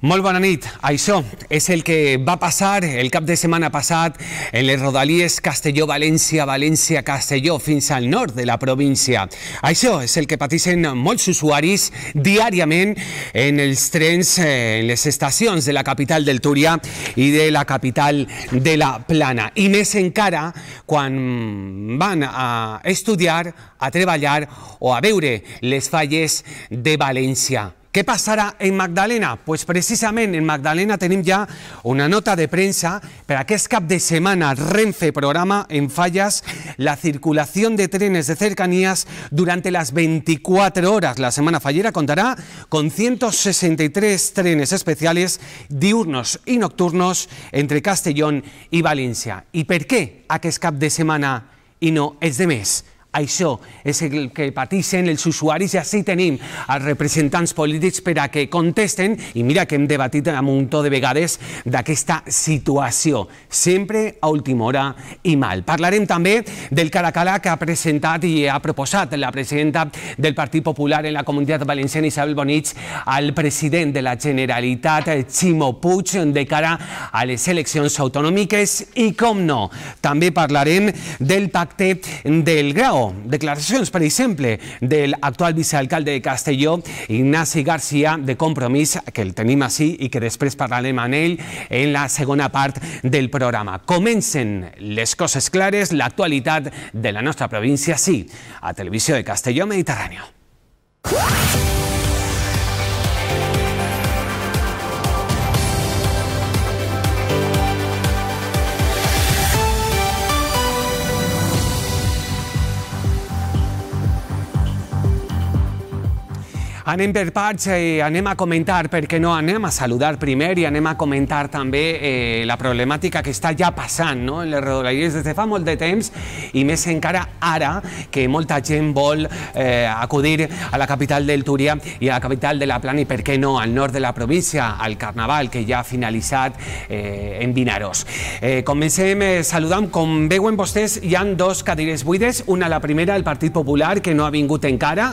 Molt bona nit. Això és el que va passar el cap de setmana passat en les rodalies Castelló-València, València-Castelló, fins al nord de la província. Això és el que pateixen molts usuaris diàriament en els trens, en les estacions de la capital del Túria i de la capital de la Plana. I més encara quan van a estudiar, a treballar o a veure les falles de València. Què passarà en Magdalena? Pues precisament en Magdalena tenim ja una nota de premsa per aquest cap de setmana. Renfe programa en fallas la circulación de trenes de cercanías durante las 24 horas. La semana fallera contará con 163 trenes especiales diurnos i nocturnos entre Castellón i València. I per què aquest cap de setmana i no els de més? Això és el que pateixen els usuaris i així tenim els representants polítics per a que contesten, i mira que hem debatit un munt de vegades d'aquesta situació, sempre a última hora i mal. Parlarem també del cara-a-cara que ha presentat i ha proposat la presidenta del Partit Popular en la Comunitat Valenciana, Isabel Bonich, al president de la Generalitat, Ximo Puig, de cara a les eleccions autonòmiques i, com no, també parlarem del pacte del Grau. Declaracions, per exemple, del actual vicealcalde de Castelló, Ignasi García, de Compromís, que el tenim així i que després parlarem amb ell en la segona part del programa. Comencen les coses clares, l'actualitat de la nostra província, sí, a Televisió de Castelló Mediterráneo. Anem per parts, anem a comentar, perquè no, anem a saludar primer i anem a comentar també la problemàtica que està ja passant en les rodalies des de fa molt de temps i més encara ara que molta gent vol acudir a la capital del Túria i a la capital de la Plana i per què no al nord de la província, al Carnaval que ja ha finalitzat en Vinaròs. Comencem saludant, com veuen vostès hi ha dos cadires buides, una la primera el Partit Popular que no ha vingut encara,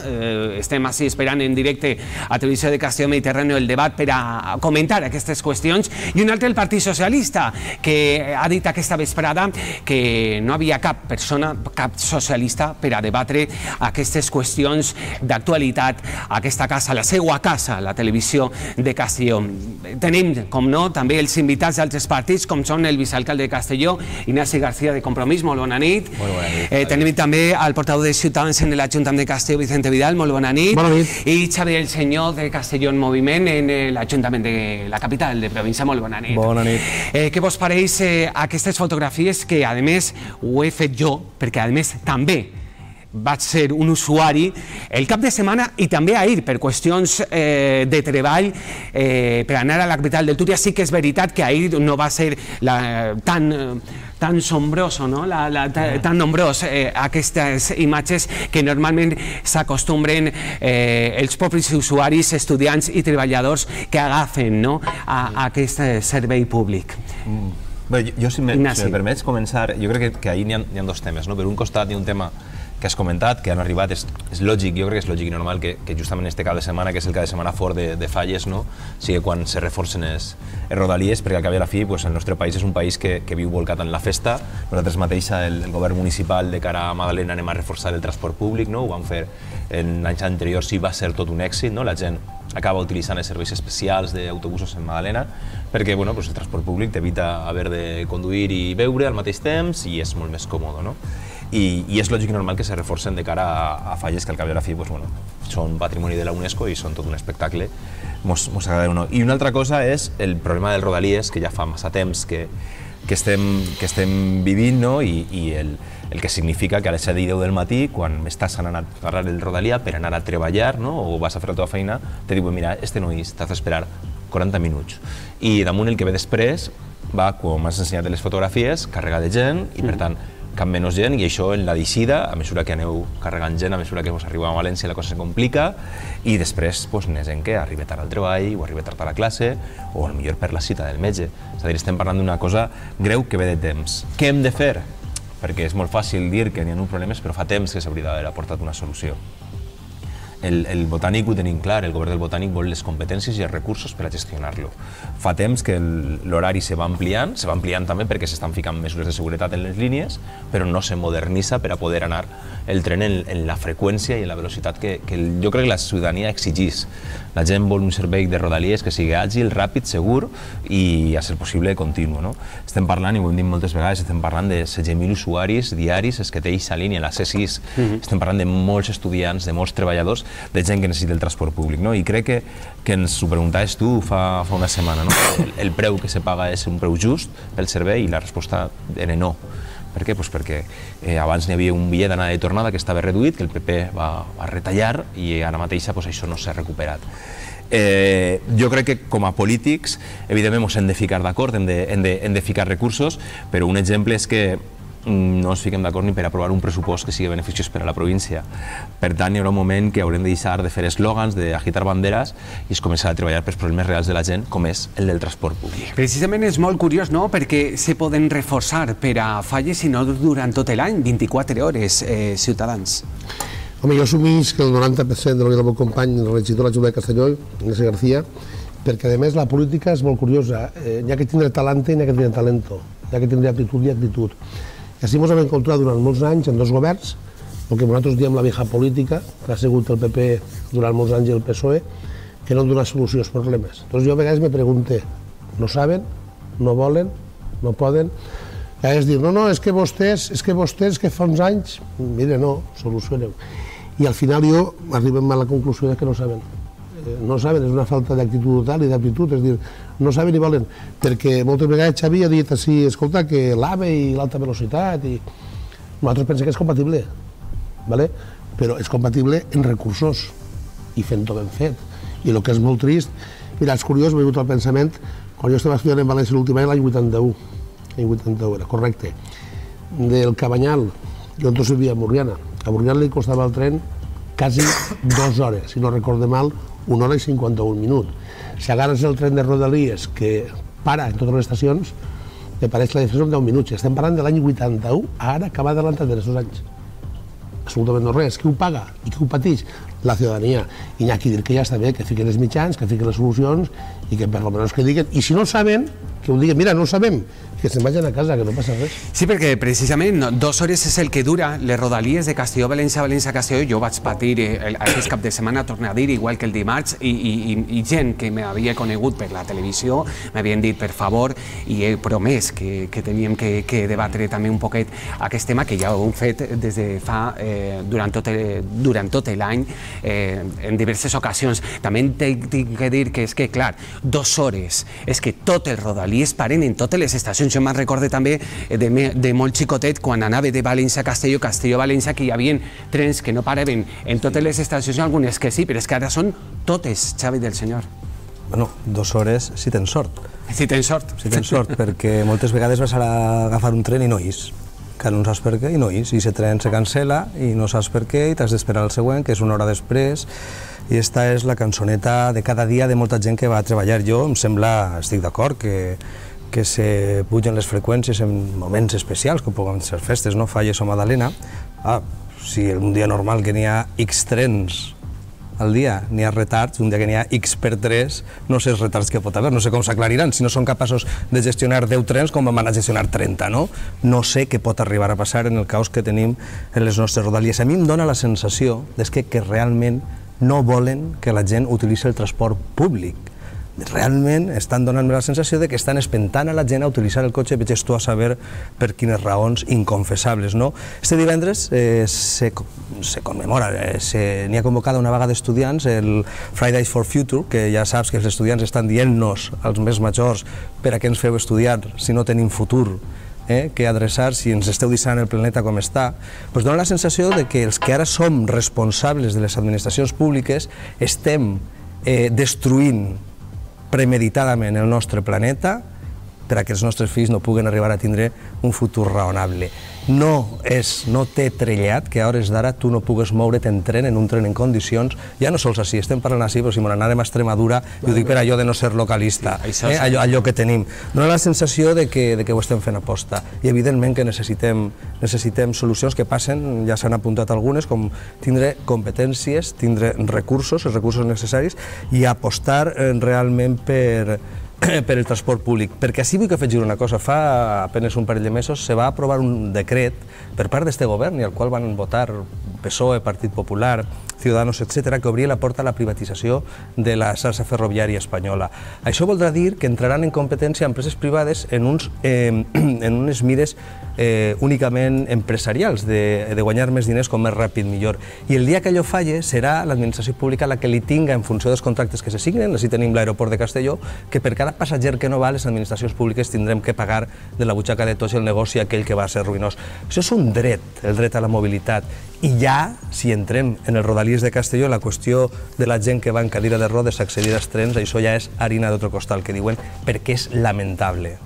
estem així esperant en directe a Televisió de Castelló Mediterráneo el debat per a comentar aquestes qüestions, i un altre el Partit Socialista, que ha dit aquesta vesprada que no havia cap persona, cap socialista per a debatre aquestes qüestions d'actualitat a aquesta casa, la seva casa, la Televisió de Castelló. Tenim, com no, també els invitats d'altres partits, com són el vicealcalde de Castelló, Ignasi García, de Compromís, molt bona nit. Molt bona nit. Tenim també el portaveu de Ciutadans en l'Ajuntament de Castelló, Vicente Vidal, molt bona nit. Bona nit. I Xavier el Senyor de Castelló en Moviment en l'Ajuntament de la capital de província. Molt bona nit. Bona nit. Què vos pareix aquestes fotografies que, a més, ho he fet jo, perquè, a més, també vaig ser un usuari el cap de setmana i també ahir per qüestions de treball per anar a la capital del Túria. Sí que és veritat que ahir no va ser tan sombroso, tan nombrós aquestes imatges que normalment s'acostumbren els propis usuaris, estudiants i treballadors que agafen aquest servei públic. Jo, si me permets començar, jo crec que ahir n'hi ha dos temes. Per un costat hi ha un tema que has comentat, que han arribat, és lògic, jo crec que és lògic i normal que justament este cap de setmana, que és el cap de setmana fort de falles, sigui quan se reforcen les rodalies, perquè al cap i a la fi el nostre país és un país que viu volcat en la festa. Nosaltres mateix, el govern municipal de cara a Magdalena, anem a reforçar el transport públic, ho vam fer en anys anteriors i va ser tot un èxit, la gent acaba utilitzant els serveis especials d'autobusos en Magdalena perquè el transport públic t'evita haver de conduir i beure al mateix temps i és molt més còmode. I és lògic i normal que se reforcen de cara a falles que al cap i a la fi són patrimoni de la UNESCO i són tot un espectacle, mos agrada o no. I una altra cosa és el problema del rodalies, que ja fa massa temps que estem vivint i el que significa que a les 7 i 10 del matí, quan estàs anant a agarrar el rodalia per anar a treballar o vas a fer la teva feina, te diuen, mira, no és, t'has d'esperar 40 minuts. I damunt el que ve després va, com m'has ensenyat les fotografies, carregar de gent i per tant cap menys gent, i això en la deixida, a mesura que aneu carregant gent, a mesura que vos arribeu a València la cosa se complica, i després n'hi ha gent que arriba tard al treball o arriba tard a la classe o potser per la cita del metge. És a dir, estem parlant d'una cosa greu que ve de temps. Què hem de fer? Perquè és molt fàcil dir que n'hi ha problemes, però fa temps que s'hauria d'haver aportat una solució. el Botànic ho tenim clar, el govern del Botànic vol les competències i els recursos per a gestionar-lo. Fa temps que l'horari se va ampliant també perquè s'estan ficant mesures de seguretat en les línies, però no se modernitza per a poder anar el tren en la freqüència i en la velocitat que jo crec que la ciutadania exigís. La gent vol un servei de Rodalies que sigui àgil, ràpid, segur i, a ser possible, continu. Estem parlant, i ho hem dit moltes vegades, estem parlant de 16.000 usuaris diaris que té aquesta línia, la C6. Estem parlant de molts estudiants, de molts treballadors, de gent que necessita el transport públic. I crec que ens ho preguntaves tu fa una setmana. El preu que se paga és un preu just pel servei i la resposta era no. Per què? Perquè abans n'hi havia un bitllet d'anada i tornada que estava reduït, que el PP va retallar i ara mateix això no s'ha recuperat. Jo crec que com a polítics, evidentment ens hem de ficar d'acord, hem de ficar recursos, però un exemple és que no ens fiquem d'acord ni per aprovar un pressupost que sigui beneficiós per a la província. Per tant, hi haurà un moment que haurem de deixar de fer eslògans, d'agitar banderes i es començarà a treballar pels problemes reals de la gent, com és el del transport públic. Precisament és molt curiós, no?, perquè se poden reforçar per a falles i no durant tot l'any, 24 hores, ciutadans. Home, jo assumís que el 90% de lo que és el meu company, el regidor de l'Ajuntament de Castelló, Ignacio García, perquè a més la política és molt curiosa. N'hi ha que tindre talante i n'hi ha que tindre talento. N'hi ha que tindre aptitud i actitud. I així ens hem encontrat durant molts anys en dos governs, el que nosaltres diem la vieja política, que ha sigut el PP durant molts anys i el PSOE, que no dona solució als problemes. Llavors jo a vegades me pregunto, no saben, no volen, no poden? A vegades dir, no, és que vostès, que fa uns anys, mire, no, solucioneu. I al final jo arribem a la conclusió que no saben. No saben, és una falta d'actitud total i d'aptitud, és dir, no saben ni volen, perquè moltes vegades Xavi ha dit així, escolta, que l'AVE i l'alta velocitat, i nosaltres pensem que és compatible, però és compatible en recursos i fent-ho ben fet. I el que és molt trist, mira, és curiós, m'he vingut al pensament, quan jo estava estudiant en València l'últim any, l'any 81 era, correcte, del Cabanyal, jo entonces vivia a Borriana, a Borriana li costava el tren quasi 2 hores, si no recorde mal, 1 hora i 51 minuts. Si agarres el tren de Rodalies, que para en totes les estacions, me pareix que la diferència són 10 minuts. Estem parlant de l'any 81, ara acaba d'adelantar de 2 anys. Absolutament no res. Qui ho paga i qui ho pateix? La ciutadania. I n'hi ha qui dir que ja està bé, que fiquen els mitjans, que fiquen les solucions i que per almenys que diguen. I si no saben, que ho diguen, mira, no ho sabem, que se'n vagin a casa, que no passa res. Sí, perquè precisament 2 hores és el que dura les Rodalies de Castelló, València, Castelló. Jo vaig patir aquest cap de setmana, tornar a dir, igual que el dimarts, i gent que m'havia conegut per la televisió m'havien dit, per favor, i he promès que teníem que debatre també un poquet aquest tema, que ja ho hem fet des de fa, durant tot l'any, en diverses ocasions. També tinc que dir que és que, clar, 2 hores, és que tot el Rodalies paren en totes les estacions. Jo me'n recordo també de molt xicotet quan anava de València a Castelló, Castelló-València, que hi havia trens que no paraven en totes les estacions, algunes que sí, però és que ara són totes, Xavi del Senyor. Bueno, 2 hores si tens sort. Si tens sort. Si tens sort, perquè moltes vegades vas a agafar un tren i no is. Que no saps per què i no is. I aquest tren se cancela i no saps per què i t'has d'esperar el següent, que és 1 hora després. I esta és la cançoneta de cada dia de molta gent que va a treballar. Jo em sembla, estic d'acord, que se pugen les freqüències en moments especials, com poden ser festes, no? Falles o Madalena. Si un dia normal que n'hi ha X trens al dia, n'hi ha retards, un dia que n'hi ha X per 3, no sé els retards que pot haver, no sé com s'aclariran, si no són capaços de gestionar 10 trens, com van a gestionar 30, no? No sé què pot arribar a passar en el caos que tenim en les nostres Rodalies. A mi em dóna la sensació que realment no volen que la gent utilitzi el transport públic. Realment estan donant-me la sensació que estan espentant a la gent a utilitzar el cotxe, veig tu a saber per quines raons inconfessables, no? Este divendres se commemora, n'hi ha convocada una vaga d'estudiants, el Fridays for Future, que ja saps que els estudiants estan dient-nos als més majors per a què ens feu estudiar si no tenim futur, que adreçar si ens esteu deixant el planeta com està, doncs dona la sensació que els que ara som responsables de les administracions públiques estem destruint premeditadament el nostre planeta per a que els nostres fills no puguen arribar a tindre un futur raonable. No té trellat que a hores d'ara tu no pugues moure't en tren, en un tren en condicions, ja no sols així, estem parlant així, però si m'anàrem a Extremadura, jo ho dic per allò de no ser localista, allò que tenim. Dóna la sensació de que ho estem fent aposta, i evidentment que necessitem solucions que passen, ja s'han apuntat algunes, com tindre competències, tindre recursos, els recursos necessaris, i apostar realment per el transport públic, perquè així vull que afegir una cosa. Fa apenas un parell de mesos se va aprovar un decret per part d'este govern i al qual van votar PSOE, Partit Popular, Ciudadanos, etc., que obria la porta a la privatització de la xarxa ferroviària espanyola. Això voldrà dir que entraran en competència empreses privades en unes mires únicament empresarials, de guanyar més diners com més ràpid millor. I el dia que allò falle serà l'administració pública la que li tinga, en funció dels contractes que se signen, així tenim l'aeroport de Castelló, que per cada passatger que no va, les administracions públiques tindrem que pagar de la butxaca de tots el negoci aquell que va ser ruïnós. Això és un dret, el dret a la mobilitat. I ja, si entrem en el Rodalies de Castelló, la qüestió de la gent que va en cadira de rodes a accedir als trens, això ja és harina d'altre costal, que diuen, perquè és lamentable.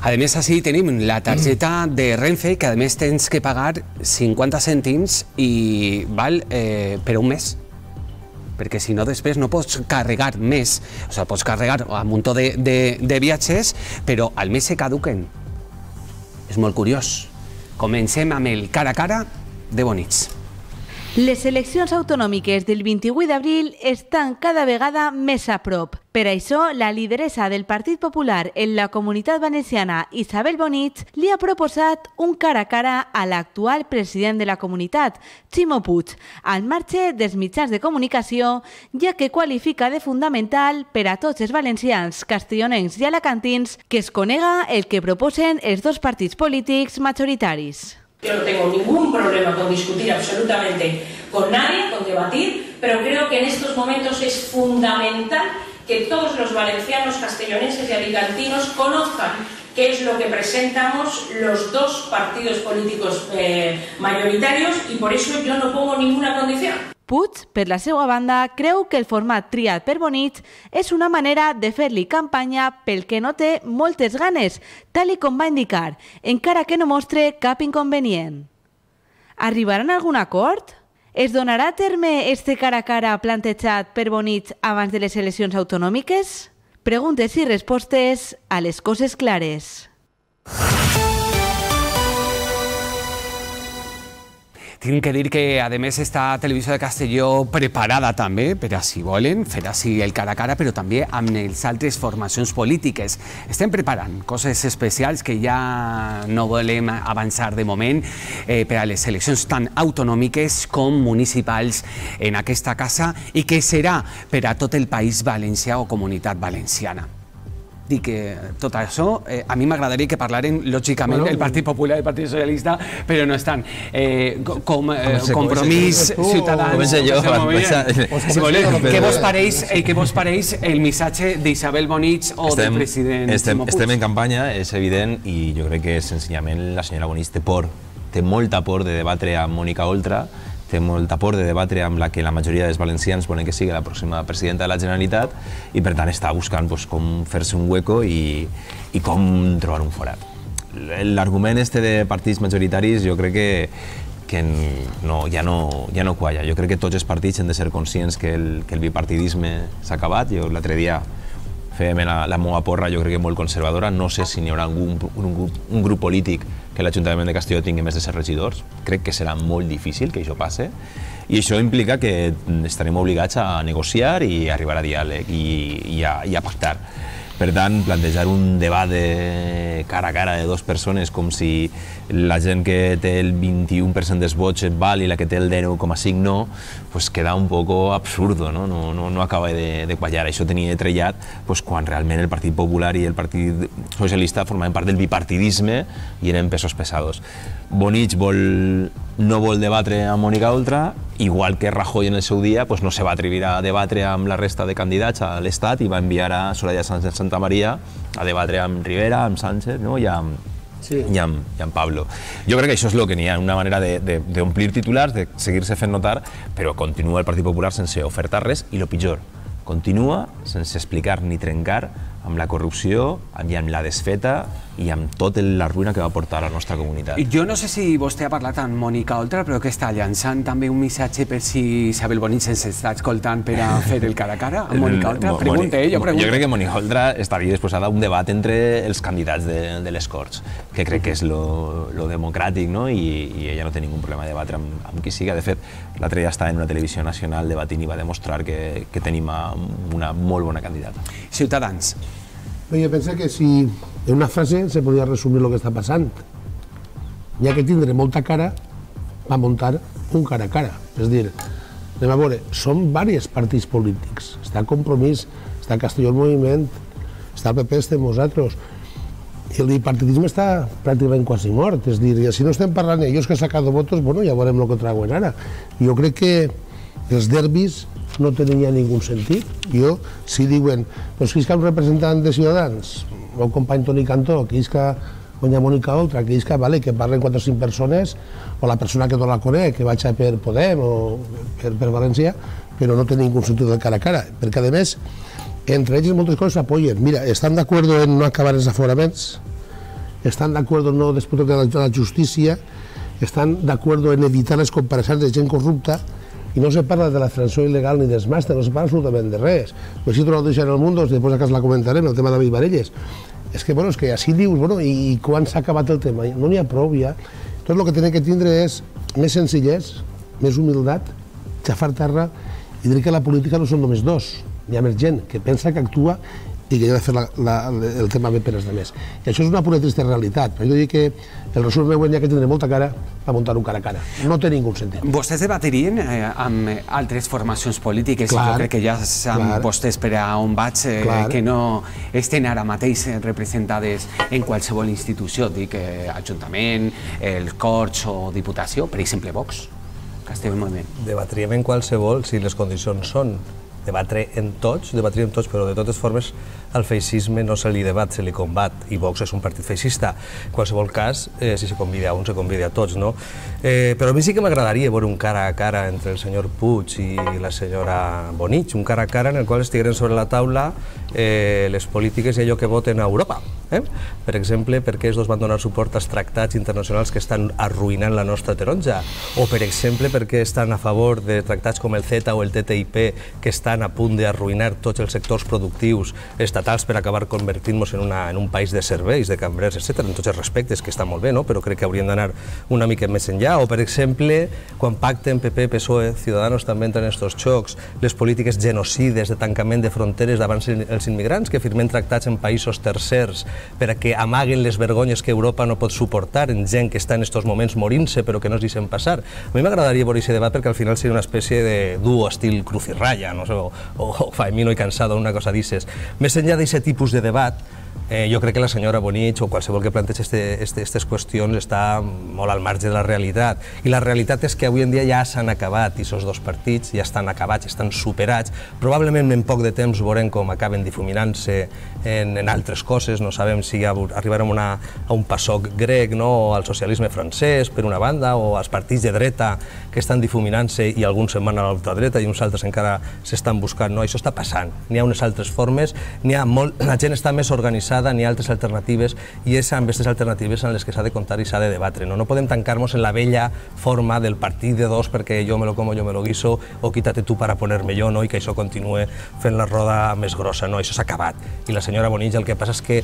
A més, així tenim la targeta de Renfe, que a més tens que pagar 50 cèntims i val per un mes. Perquè si no després no pots carregar més, o sigui, pots carregar un munt de viatges, però al mes se caduquen. És molt curiós. Comencem amb el cara a cara de Bonich. Les eleccions autonòmiques del 28 d'abril estan cada vegada més a prop. Per això, la lideressa del Partit Popular en la Comunitat Valenciana, Isabel Bonich, li ha proposat un cara a cara a l'actual president de la comunitat, Ximo Puig, al marge dels mitjans de comunicació, ja que qualifica de fundamental per a tots els valencians, castellonencs i alacantins que es conega el que proposen els dos partits polítics majoritaris. Yo no tengo ningún problema con discutir absolutamente con nadie, con debatir, pero creo que en estos momentos es fundamental que todos los valencianos, castellonenses y alicantinos conozcan qué es lo que presentamos los dos partidos políticos mayoritarios y por eso yo no pongo ninguna condición. Puig, per la seva banda, creu que el format triat per Bonich és una manera de fer-li campanya pel que no té moltes ganes, tal com va indicar, encara que no mostre cap inconvenient. Arribaran a algun acord? Es donarà a terme este cara a cara plantejat per Bonich abans de les eleccions autonòmiques? Preguntes i respostes a les coses clares. Tinc que dir que, a més, esta Televisió de Castelló preparada també, per a si volen, fer així el cara a cara, però també amb les altres formacions polítiques. Estem preparant coses especials que ja no volem avançar de moment per a les eleccions tan autonòmiques com municipals en aquesta casa i que serà per a tot el País Valencià o Comunitat Valenciana. Dic que tot això, a mi m'agradaria que parlaren, lògicament, el Partit Popular i el Partit Socialista, però no estan. Com Compromís, Ciutadans... Si voleu, què vos pareix el missatge d'Isabel Bonich o del president Ximo Puig? Estem en campanya, és evident, i jo crec que senzillament la senyora Bonich té molta por de debatre amb Mònica Oltra, té molta por de debatre amb la que la majoria dels valencians volen que sigui la pròxima presidenta de la Generalitat i per tant està buscant com fer-se un hueco i com trobar un forat. L'argument este de partits majoritaris jo crec que ja no qualla. Jo crec que tots els partits han de ser conscients que el bipartidisme s'ha acabat. Jo l'altre dia fèiem la meva porra, jo crec que molt conservadora. No sé si n'hi haurà un grup polític que l'Ajuntament de Castelló tingui més de 7 regidors. Crec que serà molt difícil que això passe i això implica que estarem obligats a negociar i a arribar a diàleg i a pactar. Per tant, plantejar un debat de cara a cara de dues persones com si la gent que té el 21% dels vots val i la que té el 10,5 no, pues queda un poco absurdo, no acaba de quallar. Això tenia trellat quan realment el Partit Popular i el Partit Socialista formaven part del bipartidisme i eren pesos pesados. Bonich no vol debatre amb Mònica Oltra, igual que Rajoy en el seu dia no se va atrevir a debatre amb la resta de candidats a l'Estat i va enviar a Soraya Sánchez Santamaría a debatre amb Rivera, amb Sánchez i amb Pablo. Jo crec que això és el que n'hi ha, una manera d'omplir titulars, de seguir-se fent notar, però continua el Partit Popular sense ofertar res i el pitjor, continua sense explicar ni trencar amb la corrupció i amb la desfeta i amb tota la ruïna que va portar a la nostra comunitat. Jo no sé si vostè ha parlat amb Mònica Oltra, però que està llançant també un missatge per si Isabel Bonich ens està escoltant per a fer el cara a cara amb Mònica Oltra. Pregunta, jo pregunto. Jo crec que Mònica Oltra estaria disposada a un debat entre els candidats de les Corts, que crec que és lo democràtic, no? I ella no té ningú problema de debatre amb qui siga. De fet, l'altre dia estava en una televisió nacional debatint i va demostrar que tenim una molt bona candidata. Ciutadans. Jo penso que si en una frase se podria resumir el que està passant. Ja que tindre molta cara, va muntar un cara a cara. És a dir, anem a veure, són diversos partits polítics. Està Compromís, està Castelló el Moviment, està el PP, estem nosaltres. I el bipartidisme està pràcticament quasi mort. És a dir, si no estem parlant d'ells que han sacat votos, bueno, ja veurem el que trauen ara. Jo crec que els derbis no tenen ja ningú sentit. Jo, si diuen, doncs que és un representant de Ciutadans, el meu company Toni Cantó, que és que doña Mònica Oltra, que és que parlen 4 o 5 persones, o la persona que no la conec, que vaig per Podem o per València, però no té ningú sentit de cara a cara, perquè a més, entre ells moltes coses s'apoyen. Mira, estan d'acord en no acabar els aforaments, estan d'acord en no disputar de la justícia, estan d'acord en evitar les compareixences de gent corrupta, i no se parla de la sanció il·legal ni dels màsters, no se parla absolutament de res. Pues si trobo deixar en el Mundo, després a casa la comentarem, el tema de David Varelles. És que, bueno, és que així dius, bueno, i quan s'ha acabat el tema? No n'hi ha prou ja. Tot el que tenen que tindre és més senzillès, més humilitat, xafar terra i dir que la política no són només dos. Hi ha més gent que pensa, que actua i que ha de fer el tema bé per als altres. I això és una pura trista realitat. Però jo dic que el resum meu, ja que tindré molta cara, va muntar un cara a cara. No té ningú sentit. Vostès debatirien amb altres formacions polítiques, i jo crec que ja saben vostès per a on vaig, que no estan ara mateix representades en qualsevol institució, dic Ajuntament, el Corts o Diputació, per exemple Vox, Castelló el Moviment. Debatríem en qualsevol si les condicions són debatre en tots, debatríem tots, però de totes formes al feixisme no se li debat, se li combat, i Vox és un partit feixista. En qualsevol cas, si se convida a un, se convida a tots, no? Però a mi sí que m'agradaria veure un cara a cara entre el senyor Puig i la senyora Bonich, un cara a cara en el qual estigueren sobre la taula les polítiques i allò que voten a Europa. Per exemple, per què els dos van donar suport als tractats internacionals que estan arruïnant la nostra taronja? O, per exemple, per què estan a favor de tractats com el CETA o el TTIP que estan a punt d'arruïnar tots els sectors productius estatals per acabar convertint-nos en un país de serveis, de cambrers, etc. En tots els respectes, que està molt bé, però crec que haurien d'anar una mica més enllà. O, per exemple, quan pacten PP, PSOE, Ciudadanos també entren en aquests xocs, les polítiques genocides de tancament de fronteres davant els immigrants, que firmen tractats en països tercers per a que amaguen les vergonyes que Europa no pot suportar en gent que està en aquests moments morint-se però que no es deixen passar. A mi m'agradaria veure aquest debat perquè al final seria una espècie de duo estil Cruz y Raya, no sé, o Faemino y Cansado, una cosa d'aquestes. Més enllà d'aquest tipus de debat, jo crec que la senyora Bonich o qualsevol que planteja aquestes qüestions està molt al marge de la realitat. I la realitat és que avui en dia ja s'han acabat, i aquests dos partits ja estan acabats, estan superats. Probablement en poc de temps veurem com acaben difuminant-se en altres coses. No sabem si arribarem a un PASOK grec o al socialisme francès, per una banda, o als partits de dreta que estan difuminant-se i alguns se'n van a l'ultradreta i uns altres encara s'estan buscant. Això està passant. N'hi ha unes altres formes, la gent està més organitzada, n'hi ha altres alternatives, i és amb aquestes alternatives en les que s'ha de comptar i s'ha de debatre. No podem tancar-nos en la vella forma del partit de dos perquè jo me lo como, yo me lo guiso, o quítate tú para ponerme yo, i que això continue fent la roda més grossa. Això s'ha acabat. I la senyora Bonich el que passa és que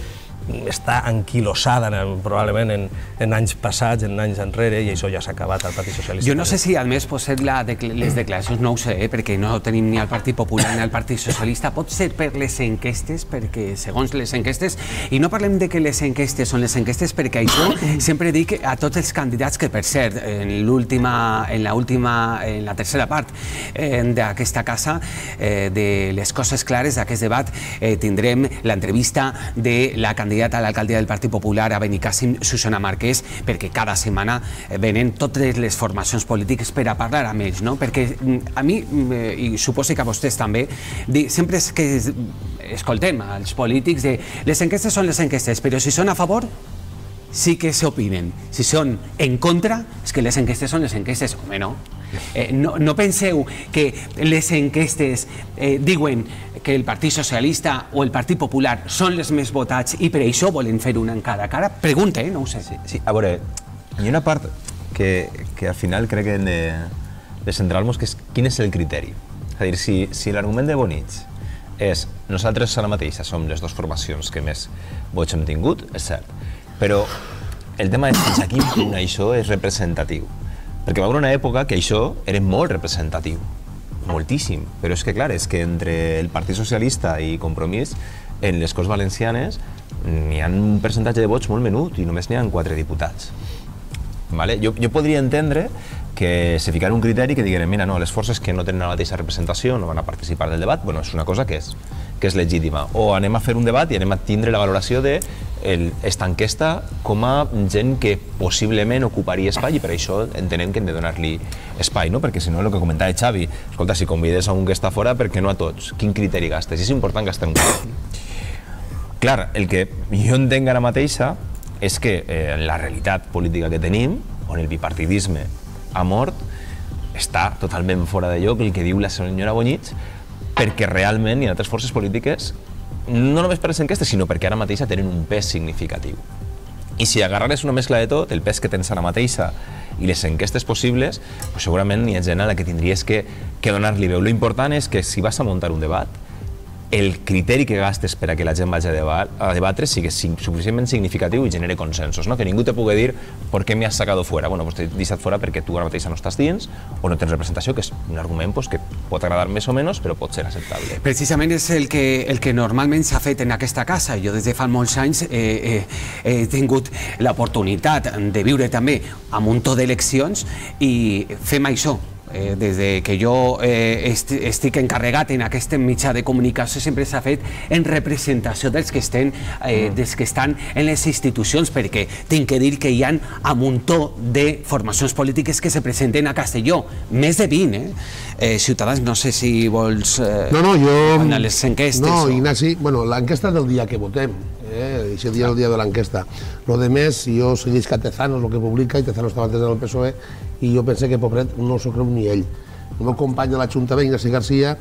està anquilosada probablement en anys passats, en anys enrere, i això ja s'ha acabat al Partit Socialista. Jo no sé si, a més, pot ser les declaracions, no ho sé, perquè no tenim ni el Partit Popular ni el Partit Socialista, pot ser per les enquestes, perquè segons les enquestes, i no parlem de que les enquestes són les enquestes, perquè això sempre dic a tots els candidats que, per cert, en la tercera part d'aquesta casa, de les coses clares d'aquest debat, tindrem l'entrevista de la candidata a l'alcaldia del Partit Popular a Benicàssim, Susana Marquès, perquè cada setmana venen totes les formacions polítiques per a parlar amb ells, perquè a mi, i suposo que a vostès també, sempre és que escoltem als polítics de les enquestes són les enquestes, però si són a favor sí que s'opinen, si són en contra és que les enquestes són les enquestes, home, no. No penseu que les enquestes diuen que el Partit Socialista o el Partit Popular són els més votats i per això volen fer una en cada cara? Pregunta, no ho sé. Sí, a veure, hi ha una part que al final crec que hem de centrar-nos, que és quin és el criteri. És a dir, si l'argument de Bonich és nosaltres ara mateixa som les dues formacions que més vots hem tingut, és cert, però el tema és fins a quin punt això és representatiu. Perquè va haver una època que això era molt representatiu, moltíssim, però és que clar, és que entre el Partit Socialista i Compromís, en les Corts Valencianes n'hi ha un percentatge de vots molt menut i només n'hi ha 4 diputats. Jo podria entendre que se ficara un criteri que digueren, mira, no, les forces que no tenen la mateixa representació no van a participar del debat, bueno, és una cosa que és legítima. O anem a fer un debat i anem a tindre la valoració d'esta enquesta com a gent que possiblement ocuparia espai i per això entenem que hem de donar-li espai, no? Perquè si no, el que comentava Xavi, escolta, si convides a un que està fora, per què no a tots? Quin criteri gastes? I és important gastar un criteri. Clar, el que jo entenc ara mateixa és que en la realitat política que tenim, on el bipartidisme ha mort, està totalment fora de lloc el que diu la senyora Bonich, perquè realment hi ha altres forces polítiques, no només per les enquestes, sinó perquè ara mateixa tenen un pes significatiu. I si agarrares una mescla de tot, el pes que tens ara mateixa i les enquestes possibles, segurament hi ha gent a la que tindries que donar-li veu. Lo important és que si vas a muntar un debat, el criteri que gastes per a que la gent vagi a debatre sigui suficientment significatiu i genere consensos, que ningú te pugui dir per què m'has sacat fora. Bueno, t'he deixat fora perquè tu ara mateixa no estàs dins o no tens representació, que és un argument que pot agradar més o menys, però pot ser acceptable. Precisament és el que normalment s'ha fet en aquesta casa. Jo des de fa molts anys he tingut l'oportunitat de viure també a un munt d'eleccions i fem això. Des que jo estic encarregat en aquest mitjà de comunicació sempre s'ha fet en representació dels que estan en les institucions, perquè tinc que dir que hi ha un muntó de formacions polítiques que se presenten a Castelló, més de 20, Ciutadans, no sé si vols anar a les enquestes. No, Ignasi, l'enquesta del dia que votem, aquest dia és el dia de l'enquesta. Lo de més, jo segueix que Tezanos el que publica, i Tezanos estava antes en el PSOE, i jo pensé que, pobret, no s'ho creu ni ell. El meu company de l'Ajuntament, Ignasi Garcia,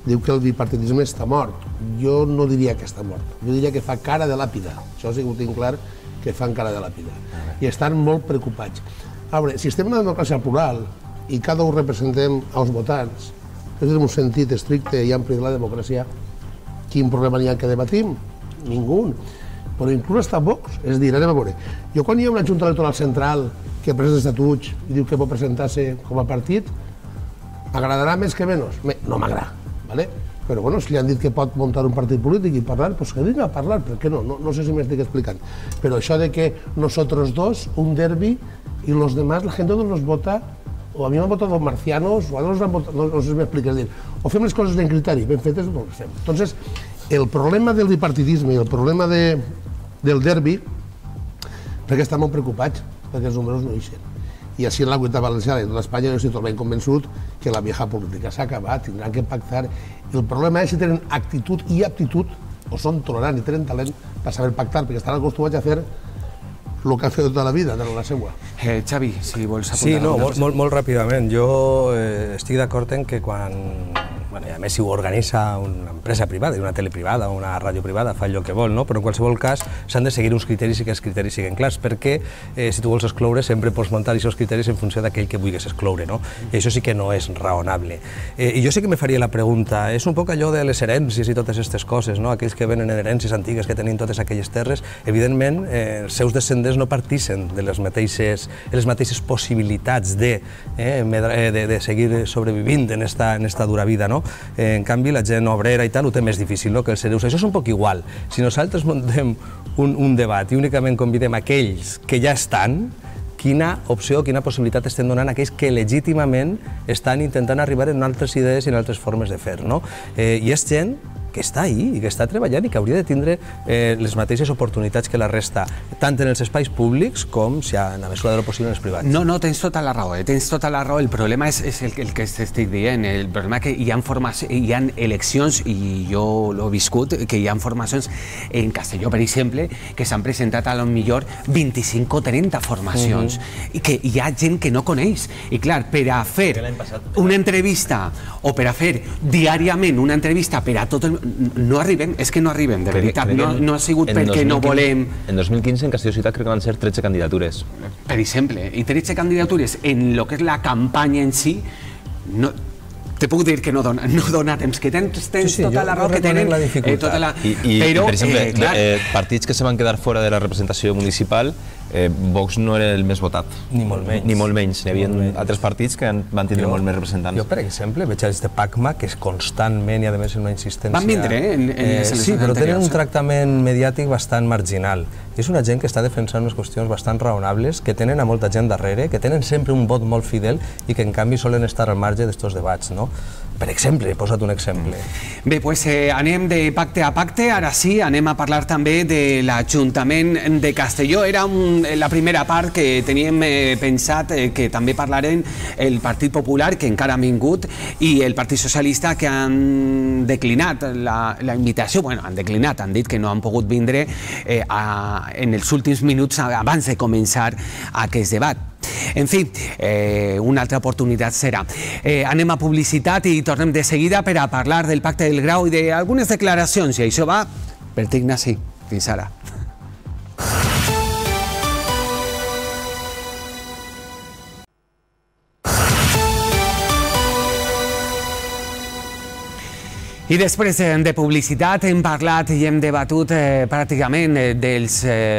diu que el bipartidisme està mort. Jo no diria que està mort, jo diria que fa cara de làpida. Això sí que ho tinc clar, que fan cara de làpida. I estan molt preocupats. A veure, si estem en una democràcia plural i cada un representem els votants, és en un sentit estricte i ampli de la democràcia, quin problema n'hi ha que debatim? Ningú. Però inclús està Vox, és a dir, anem a veure, jo quan hi ha una Junta Electoral Central que presenta estatuts i diu que pot presentar-se com a partit, m'agradarà més que menys? No m'agrada, ¿vale? Però bueno, si li han dit que pot muntar un partit polític i parlar, doncs que vinga a parlar, per què no? No sé si m'estic explicant. Però això de que nosotros dos, un derbi, y los demás, la gente no nos vota, o a mi m'han votat marcianos, o a no sé si m'expliques, dir, o fem les coses en criteri, ben fetes, no les fem. Entonces, el problema del bipartidisme i el problema del derbi, perquè estan molt preocupats, perquè els números no ixen. I així en la Comunitat Valenciana i en tota Espanya jo estic totalment convençut que la vieja política s'ha acabat, tindran que pactar. El problema és si tenen actitud i aptitud, o són tolerants i tenen talent per saber pactar, perquè estan acostumats a fer el que ha fet tota la vida, de la seva. Xavi, si vols apuntar. Sí, no, molt ràpidament. Jo estic d'acord en que quan... I a més, si ho organitza una empresa privada, una tele privada o una ràdio privada, fa allò que vol, no? Però en qualsevol cas s'han de seguir uns criteris i que els criteris siguin clars, perquè si tu vols excloure sempre pots muntar aquests criteris en funció d'aquell que vulguis excloure, no? I això sí que no és raonable. I jo sí que me faria la pregunta, és un poc allò de les herències i totes aquestes coses, no? Aquells que venen en herències antigues que tenien totes aquelles terres, evidentment els seus descendents no partixen de les mateixes possibilitats de seguir sobrevivint en esta dura vida, no? En canvi, la gent obrera i tal ho té més difícil, no? Que els hereus. Això és un poc igual. Si nosaltres muntem un debat i únicament convidem aquells que ja estan, quina opció, quina possibilitat estem donant a aquells que legítimament estan intentant arribar en altres idees i en altres formes de fer, no? I és gent que està ahí i que està treballant i que hauria de tindre les mateixes oportunitats que la resta, tant en els espais públics com, si en la mesura de lo possible, en els privats. No, tens tota la raó, tens tota la raó. El problema és el que t'estic dient. El problema és que hi ha eleccions, i jo l'he viscut, que hi ha formacions en Castelló, per exemple, que s'han presentat a lo millor 25 o 30 formacions, i que hi ha gent que no coneix. I clar, per a fer una entrevista o per a fer diàriament una entrevista per a tot el... no arribem, és que no arribem, de veritat, no ha sigut perquè no volem... En 2015 en Castelló Ciutat crec que van ser 13 candidatures. Per exemple, i 13 candidatures en el que és la campanya en si, te puc dir que no dona temps, que tens tota la raó que tenen tota la... Però, per exemple, partits que se van quedar fora de la representació municipal, Vox no era el més votat. Ni molt menys. Ni molt menys. Hi havia altres partits que van tindre molt més representants. Jo, per exemple, veig els de PACMA, que és constantment i a més una insistència... Van vindre, en les eleccions sí, però tenen un tractament mediàtic bastant marginal. És una gent que està defensant unes qüestions bastant raonables, que tenen a molta gent darrere, que tenen sempre un vot molt fidel i que en canvi solen estar al marge d'estos debats, no? Per exemple, he posat un exemple. Bé, doncs anem de pacte a pacte. Ara sí, anem a parlar també de l'Ajuntament de Castelló. Era la primera part que teníem pensat que també parlarem el Partit Popular, que encara han vingut, i el Partit Socialista, que han declinat la invitació. Bueno, han declinat, han dit que no han pogut vindre en els últims minuts abans de començar aquest debat. En fi, una altra oportunitat serà. Anem a publicitat i tornem de seguida per a parlar del Pacte del Grau i d'algunes declaracions, i això va per Ignasi. Fins ara. I després de publicitat hem parlat i hem debatut pràcticament dels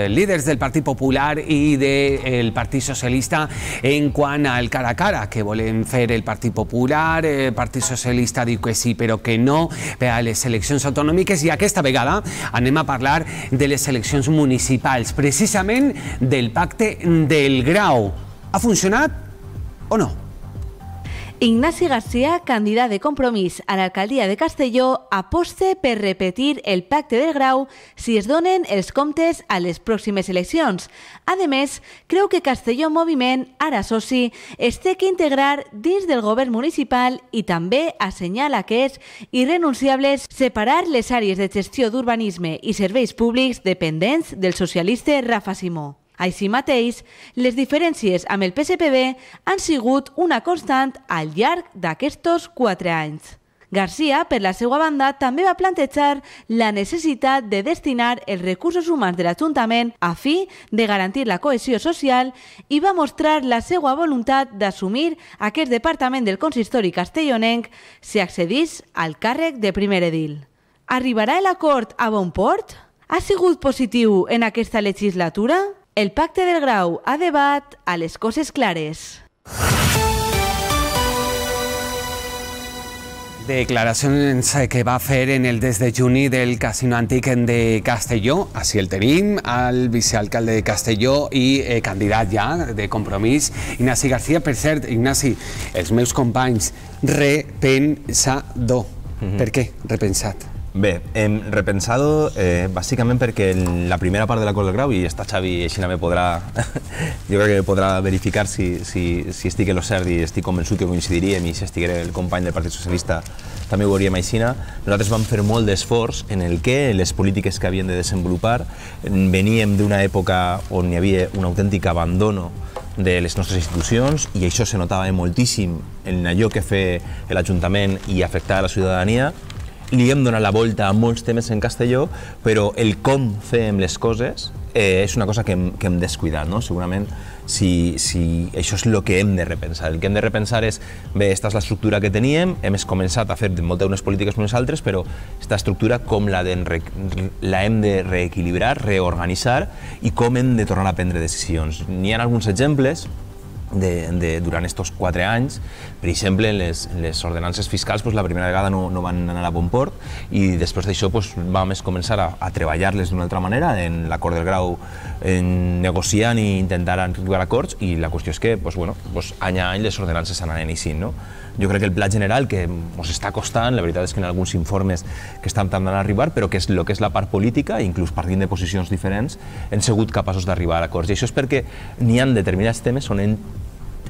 líders del Partit Popular i del Partit Socialista en quant al cara a cara que volem fer el Partit Popular. El Partit Socialista diu que sí, però que no per a les eleccions autonòmiques, i aquesta vegada anem a parlar de les eleccions municipals, precisament del Pacte del Grau. Ha funcionat o no? Ignasi García, candidat de Compromís a l'alcaldia de Castelló, aposta per repetir el Pacte del Grau si es donen els comptes a les pròximes eleccions. A més, creu que Castelló Moviment, ara soci, es té que integrar dins del govern municipal i també assenyala que és irrenunciable separar les àrees de gestió d'urbanisme i serveis públics dependents del socialista Rafa Simó. Així mateix, les diferències amb el PSPB han sigut una constant al llarg d'aquests 4 anys. García, per la seva banda, també va plantejar la necessitat de destinar els recursos humans de l'Ajuntament a fi de garantir la cohesió social i va mostrar la seva voluntat d'assumir aquest departament del consistori castellonenc si accedís al càrrec de primer edil. Arribarà l'acord a bon port? Ha sigut positiu en aquesta legislatura? El Pacte del Grau a debat a les coses clares. Declaracions que va fer en el desdejuni del Casino Antic de Castelló. Així el tenim, el vicealcalde de Castelló i candidat ja de Compromís, Ignasi García. Per cert, Ignasi, els meus companys, repensador. Per què repensat? Bé, hem repensado bàsicament perquè la primera part de l'acord del Grau, i està Xavi així me podrà, jo crec que podrà verificar si estic en lo cert, i estic convençut que coincidiríem, i si estiguera el company del Partit Socialista també ho veuríem així. Nosaltres vam fer molt d'esforç en el que les polítiques que havien de desenvolupar veníem d'una època on hi havia un autèntic abandono de les nostres institucions, i això se notava moltíssim en allò que feia l'Ajuntament i afectava la ciutadania. Li hem donat la volta a molts temes en Castelló, però el com fem les coses és una cosa que hem descuidat, no? Segurament, si això és el que hem de repensar. El que hem de repensar és, bé, esta és l'estructura que teníem, hem començat a fer moltes unes polítiques unes altres, però aquesta estructura com la hem de reequilibrar, reorganitzar, i com hem de tornar a prendre decisions. N'hi ha alguns exemples durant aquests 4 anys. Per exemple, les ordenances fiscals la primera vegada no van anar a bon port, i després d'això vam començar a treballar-les d'una altra manera en l'acord del Grau, negociant i intentar arribar a acords, i la qüestió és que any a any les ordenances anaven així. Jo crec que el pla general que ens està costant, la veritat és que en alguns informes que estan tardant a arribar, però que és el que és la part política, inclús partint de posicions diferents, hem sigut capaços d'arribar a acords. I això és perquè n'hi ha determinats temes on hem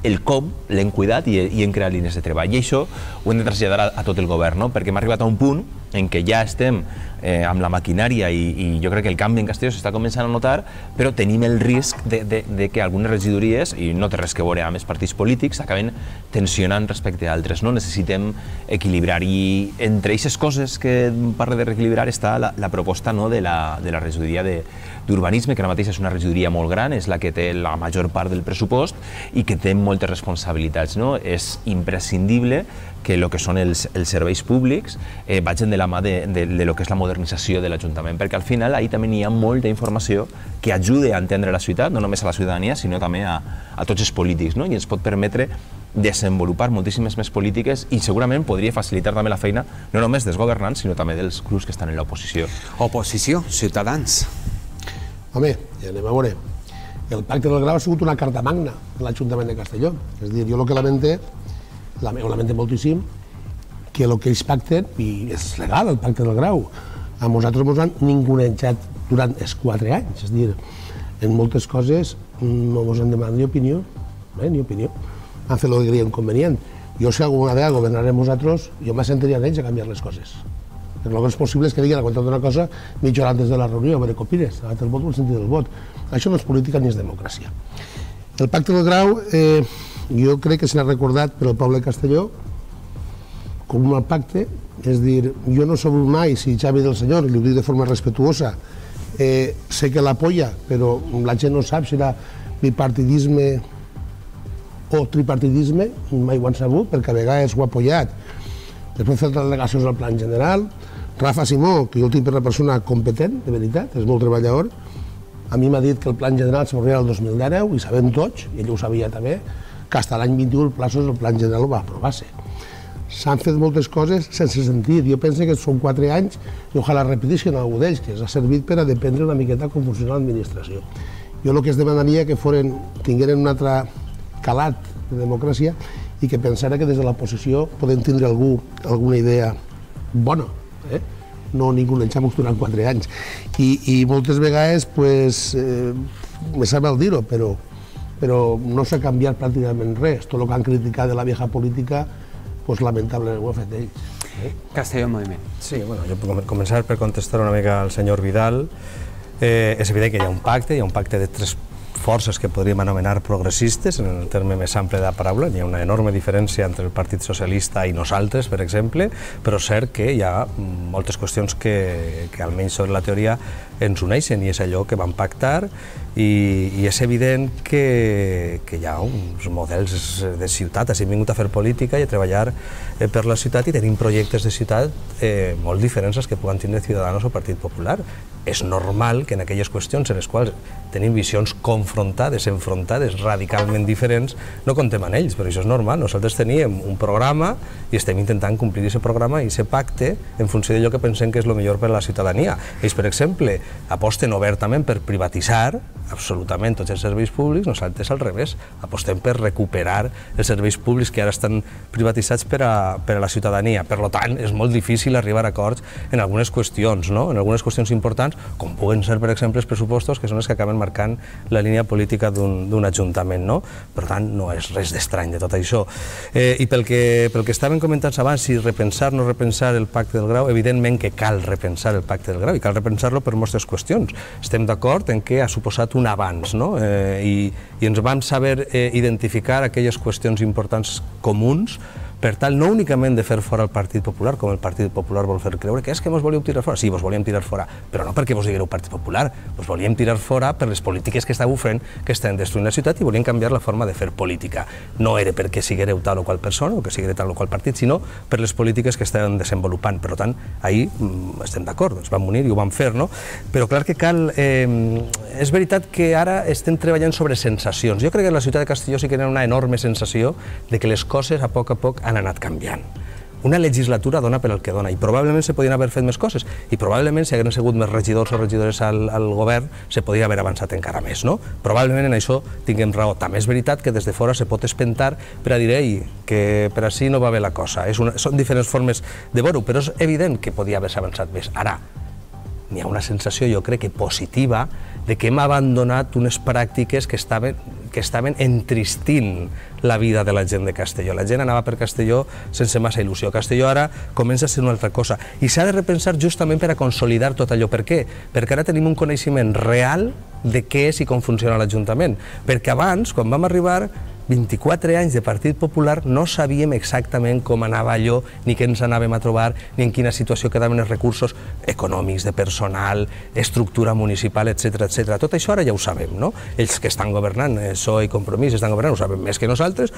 el com l'hem cuidat i hem creat línies de treball. I això ho hem de traslladar a tot el govern, perquè hem arribat a un punt en què ja estem amb la maquinària i jo crec que el canvi en Castelló s'està començant a notar, però tenim el risc de que algunes regidories, i no té res que veure amb els partits polítics, acaben tensionant respecte a altres. Necessitem equilibrar, i entre aquestes coses que parla de reequilibrar està la proposta de la regidoria d'urbanisme, que ara mateix és una regidoria molt gran, és la que té la major part del pressupost i que té moltes responsabilitats. És imprescindible que el que són els serveis públics vagin de la mà de lo que és la modernització de l'Ajuntament, perquè al final ahí també hi ha molta informació que ajuda a entendre la ciutat, no només a la ciutadania, sinó també a tots els polítics, i ens pot permetre desenvolupar moltíssimes més polítiques i segurament podria facilitar també la feina no només dels governants, sinó també dels grups que estan en l'oposició. Oposició, Ciutadans. Home, ja anem a veure. El Pacte del Grau ha sigut una carta magna de l'Ajuntament de Castelló. És a dir, jo el que lamente moltíssim, que el que ells pacten, i és legal el Pacte del Grau, a nosaltres ens han ningunejat durant els 4 anys. És a dir, en moltes coses no ens han demanat ni opinió, ni opinió. Han fet el que creien convenient. Jo, si alguna vegada governarem nosaltres, jo m'assentaria d'ells a canviar les coses. Perquè el que és possible és que diguin a compte d'una cosa mitja hora antes de la reunió, a veure què opines, a el vot o el sentit del vot. Això no és política ni és democràcia. El Pacte del Grau, jo crec que s'ha recordat per al poble de Castelló com un mal pacte, és dir, jo no soc mai, si Xavi del Senyor, li ho dic de forma respetuosa, sé que l'apoya, però la gent no sap si era bipartidisme o tripartidisme, mai ho han sabut, perquè a vegades ho ha apoyat. Després fer delegacions al Plan General. Rafa Simó, que jo el tinc per una persona competent, de veritat, és molt treballador, a mi m'ha dit que el Plan General s'obrirà el 2019, i sabem tots, i ell ho sabia també, que fins a l'any 21 el Plan General ho va aprovar-se. S'han fet moltes coses sense sentit. Jo penso que són 4 anys i ojalà repetissin algú d'ells, que ens ha servit per a dependre una miqueta com funciona l'administració. Jo el que es demanaria que tingueren un altre calat de democràcia i que pensara que des de l'oposició podem tindre alguna idea bona, no ningunejamos durant 4 anys. I moltes vegades, me sap mal dir-ho, però no s'ha canviat pràcticament res. Tot el que han criticat de la vieja política, lamentablement ho ha fet ells. Castelló en moviment. Sí, bueno, jo puc començar per contestar una mica al senyor Vidal. És evident que hi ha un pacte de 3 forces que podríem anomenar progressistes, en el terme més ample de la paraula. Hi ha una enorme diferència entre el Partit Socialista i nosaltres, per exemple, però és cert que hi ha moltes qüestions que almenys sobre la teoria ens uneixen, i és allò que vam pactar, i és evident que hi ha uns models de ciutat. Hem vingut a fer política i a treballar per la ciutat, i tenim projectes de ciutat molt diferents als que puguen tindre Ciudadanos o Partit Popular. És normal que en aquelles qüestions en les quals tenim visions confrontades, enfrontades, radicalment diferents, no contem amb ells, però això és normal. Nosaltres teníem un programa i estem intentant complir aquest programa i aquest pacte en funció d'allò que pensem que és el millor per a la ciutadania. Ells, per exemple, aposten obertament per privatitzar absolutament tots els serveis públics. Nosaltres al revés, apostem per recuperar els serveis públics que ara estan privatitzats per a la ciutadania. Per tant, és molt difícil arribar a acords en algunes qüestions, en algunes qüestions importants, com puguen ser, per exemple, els pressupostos, que són els que acaben marcant la línia política d'un ajuntament. Per tant, no és res d'estrany de tot això. I pel que estaven comentant abans, si repensar o no repensar el Pacte del Grau, evidentment que cal repensar el Pacte del Grau, i cal repensar-lo per moltes qüestions. Estem d'acord en que ha suposat un avanç, i ens vam saber identificar aquelles qüestions importants comuns, per tal no únicament de fer fora el Partit Popular, com el Partit Popular vol fer creure, que és que vos volíeu tirar fora. Sí, vos volíem tirar fora, però no perquè vos digueu Partit Popular, vos volíem tirar fora per les polítiques que estàveu fent, que estan destruint la ciutat, i volíem canviar la forma de fer política. No era perquè siguereu tal o qual persona o que siguereu tal o qual partit, sinó per les polítiques que estaven desenvolupant. Per tant, ahir estem d'acord, ens vam unir i ho vam fer, no? Però clar que cal... És veritat que ara estem treballant sobre sensacions. Jo crec que a la ciutat de Castelló sí que hi ha una enorme sensació de que les coses a poc han anat canviant. Una legislatura dona per el que dona, i probablement se podien haver fet més coses, i probablement si haguessin sigut més regidors o regidores al govern se podria haver avançat encara més, no? Probablement en això tinguem raó. També és veritat que des de fora se pot espentar per a dir que per així no va bé la cosa. Són diferents formes de veure-ho, però és evident que podia haver-se avançat més. Ara, n'hi ha una sensació, jo crec que positiva, de que hem abandonat unes pràctiques que estaven entristint la vida de la gent de Castelló. La gent anava per Castelló sense massa il·lusió. Castelló ara comença a ser una altra cosa. I s'ha de repensar justament per a consolidar tot allò. Per què? Perquè ara tenim un coneixement real de què és i com funciona l'Ajuntament. Perquè abans, quan vam arribar, 24 anys de Partit Popular, no sabíem exactament com anava allò, ni què ens anàvem a trobar, ni en quina situació quedaven els recursos econòmics, de personal, estructura municipal, etc. Tot això ara ja ho sabem, no? Ells que estan governant, PSOE i Compromís, estan governant, ho sabem més que nosaltres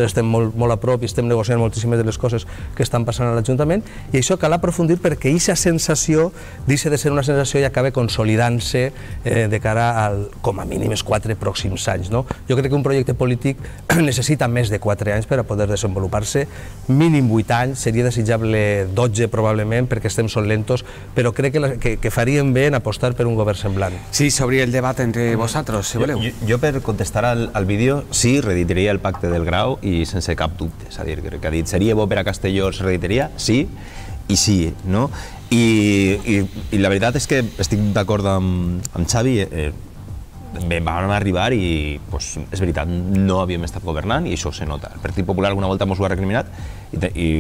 estem molt a prop i estem negociant moltíssimes de les coses que estan passant a l'Ajuntament, i això cal aprofundir perquè aquesta sensació deixa de ser una sensació i acaba consolidant-se de cara al, com a mínim, els 4 pròxims anys, no? Jo crec que un projecte polític necessita més de 4 anys per a poder desenvolupar-se, mínim 8 anys, seria desitjable 12 probablement perquè estem són lentos, però crec que faríem bé en apostar per un govern semblant. Sí, s'obri el debat entre vosaltres, si voleu. Jo per contestar al vídeo, sí, reeditaria el Pacte del Grau i sense cap dubte, és a dir, que ha dit, seria bo per a Castelló, es reeditaria, sí, i sí, no? I la veritat és que estic d'acord amb Xavi, vam arribar i és veritat, no havíem estat governant i això se nota. El Partit Popular alguna volta ens ho ha recriminat i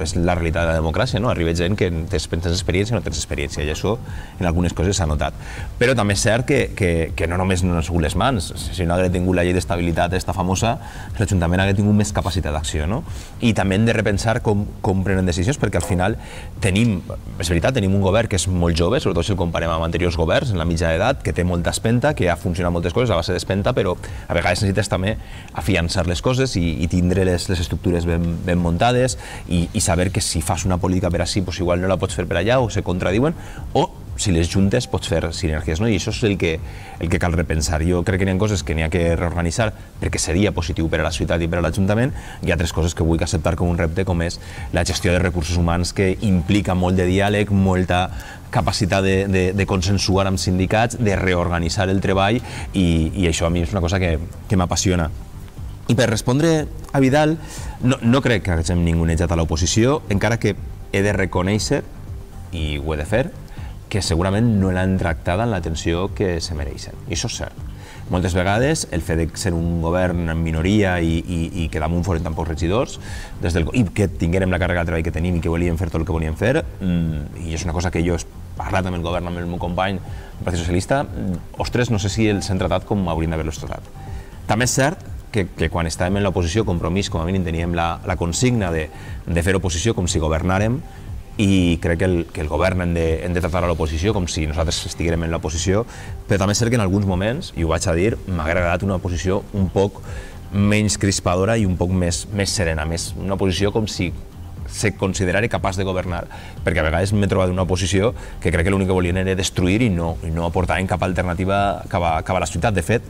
és la realitat de la democràcia, no? Arriba gent que tens experiència o no tens experiència i això en algunes coses s'ha notat. Però també és cert que no només no han sigut les mans, si no hagués tingut la llei d'estabilitat esta famosa, l'Ajuntament hagués tingut més capacitat d'acció, no? I també hem de repensar com prenen decisions perquè al final tenim, és veritat, tenim un govern que és molt jove, sobretot si el comparem amb anteriors governs en la mitja edat, que té molta espenta, que ha funcionat moltes coses a base d'espenta, però a vegades necessites també afiançar les coses i tindre les estructures ben muntades i saber que si fas una política per així, igual no la pots fer per allà o se contradiuen, o si les juntes pots fer sinergies, no? I això és el que cal repensar. Jo crec que hi ha coses que n'hi ha que reorganitzar perquè seria positiu per a la ciutat i per a l'Ajuntament, i altres coses que vull acceptar com un repte, com és la gestió de recursos humans, que implica molt de diàleg, molta capacitat de consensuar amb sindicats, de reorganitzar el treball, i això a mi és una cosa que m'apassiona. I per respondre a Vidal, no crec que hagin ningunejat a l'oposició, encara que he de reconèixer, i ho he de fer, que segurament no l'han tractada amb l'atenció que se mereixen. I això és cert. Moltes vegades el fet de ser un govern en minoria i que damunt foren tan pocs regidors, i que tinguérem la càrrega de treball que tenim i que volíem fer tot el que volíem fer, i és una cosa que jo he parlat amb el govern, amb el meu company del Partit Socialista, ostres, no sé si els han tratat com haurien d'haver-los tratat. També és cert que quan estàvem en l'oposició, Compromís, com a mínim teníem la consigna de fer oposició com si governàrem, i crec que el govern hem de tractar a l'oposició com si nosaltres estiguérem en l'oposició, però també és cert que en alguns moments, i ho vaig a dir, m'ha agradat una oposició un poc menys crispadora i un poc més serena, una oposició com si se considerara capaç de governar, perquè a vegades m'he trobat una oposició que crec que l'únic que volien era destruir i no aportaven cap alternativa cap a la ciutat. De fet,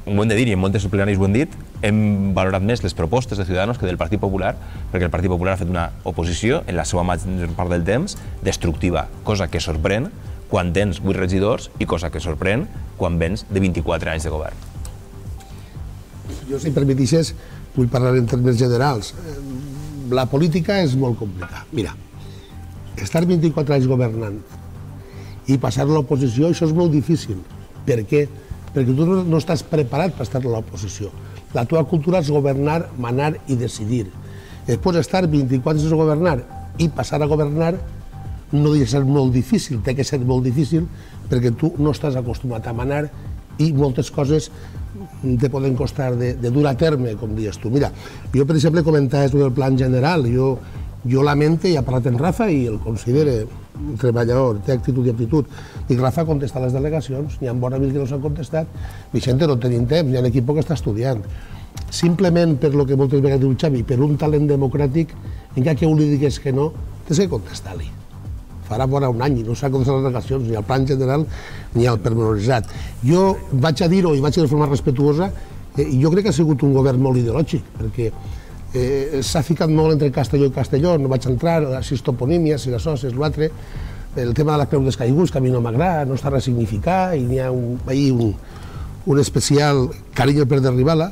ho hem de dir, i en moltes plenaris ho hem dit, hem valorat més les propostes de Ciudadanos que del Partit Popular, perquè el Partit Popular ha fet una oposició, en la seva major part del temps, destructiva, cosa que sorprèn quan tens 8 regidors i cosa que sorprèn quan vens de 24 anys de govern. Jo, si em permetixes, vull parlar en termes generals. La política és molt complicada. Mira, estar 24 anys governant i passar a l'oposició, això és molt difícil. Per què? Perquè tu no estàs preparat per estar a l'oposició. La teva cultura és governar, manar i decidir. Després d'estar 24 anys a governar i passar a governar no deixa de ser molt difícil, té que ser molt difícil perquè tu no estàs acostumat a manar i moltes coses te poden costar de dur a terme, com dius tu. Mira, jo, per exemple, comentaves el plan general. Jo lamento, i he parlat amb Rafa i el considere un treballador, té actitud i aptitud. Dic, Rafa, contesta les delegacions, n'hi ha bona mil que no s'han contestat, Vicente, no tenim temps, hi ha un equip que està estudiant. Simplement per lo que moltes vegades diu Xavi, per un talent democràtic, encara que un li digués que no, tens que contestar-li. Farà vora un any i no s'ha contestat les delegacions, ni al plan general ni al pormenoritzat. Jo vaig a dir-ho i vaig a dir de forma respetuosa, jo crec que ha sigut un govern molt ideològic, perquè s'ha ficat molt entre Castelló i Castelló, no vaig entrar, si és toponímia, si és això, si és l'altre, el tema de la creu dels caiguts, que a mi no m'agrada, no està ressignificat, i n'hi ha un especial carinyo per derribar-la,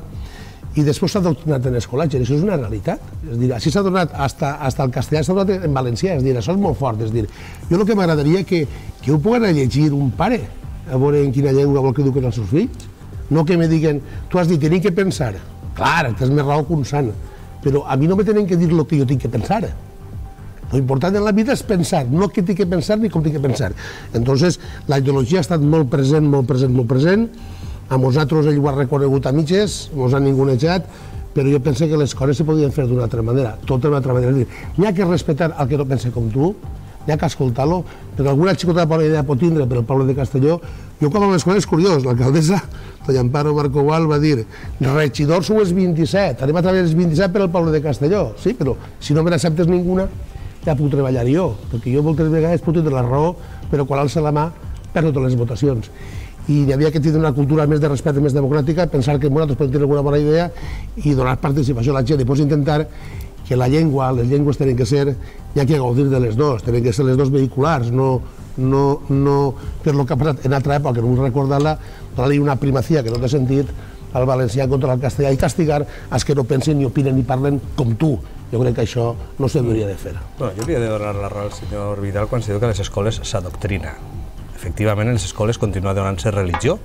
i després s'ha adoctrinat en escolatge, això és una realitat. És dir, així s'ha donat, hasta el castellà s'ha donat en valencià, és dir, això és molt fort. És dir, jo el que m'agradaria que ho pugui anar a llegir un pare, a veure en quina llengua vol que eduquen els seus fills, no que me diguen, tu has dit, tenim que pensar. Clar, tens més raó que un sant, però a mi no me tenen que dir el que jo tinc que pensar. Lo important en la vida és pensar, no què tinc que pensar ni com tinc que pensar. Entonces, la ideologia ha estat molt present, molt present, molt present. A nosaltres ell ho ha reconegut a mitges, ens han ningunejat, però jo penso que les coses se podien fer d'una altra manera, tota d'una altra manera. N'hi ha que respectar el que no pensa com tu, n'hi ha que escoltar-lo, perquè alguna xicota bona idea pot tindre per al poble de Castelló. Jo quan a l'escola és curiós, l'alcaldessa, doña Amparo Marcoval, va dir regidors sou els 27, anem a treballar els 27 per al poble de Castelló. Sí, però si no me n'acceptes ninguna, ja puc treballar jo, perquè jo moltes vegades puc tindre la raó, però quan alça la mà perdo totes les votacions. I hi havia que tindre una cultura més de respecte, més democràtica, pensar que nosaltres podem tenir alguna bona idea i donar participació a la gent. I després intentar que la llengua, les llengües tenen que ser, hi ha que gaudir de les dues, tenen que ser les dues vehiculars, no per el que ha passat en altra època, no vull recordar-la, donar-li una primacia que no té sentit al valencià contra el castellà i castigar els que no pensen ni opinen ni parlen com tu. Jo crec que això no s'hauria de fer. Bueno, jo hauria de donar la raó al senyor Vidal quan se diu que a les escoles s'adoctrina. Efectivament, en les escoles continua donant-se religió,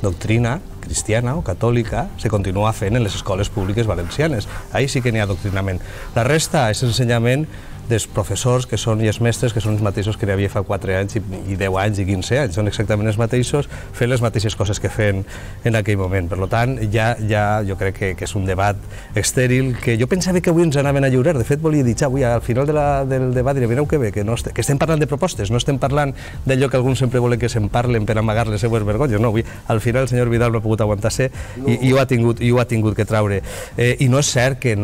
doctrina cristiana o catòlica, se continua fent en les escoles públiques valencianes. Ahí sí que n'hi ha adoctrinament. La resta és ensenyament dels professors que són i els mestres que són els mateixos que n'hi havia fa 4 anys i 10 anys i 15 anys. Són exactament els mateixos, fent les mateixes coses que feien en aquell moment. Per tant, ja jo crec que és un debat estèril que jo pensava que avui ens anaven a lliurar. De fet, volia dir, avui al final del debat diré, mireu que bé, que estem parlant de propostes, no estem parlant d'allò que alguns sempre volen que se'n parlen per amagar les seues vergonyes. No, avui al final el senyor Vidal no ha pogut aguantar-se i ho ha tingut que traure. I no és cert que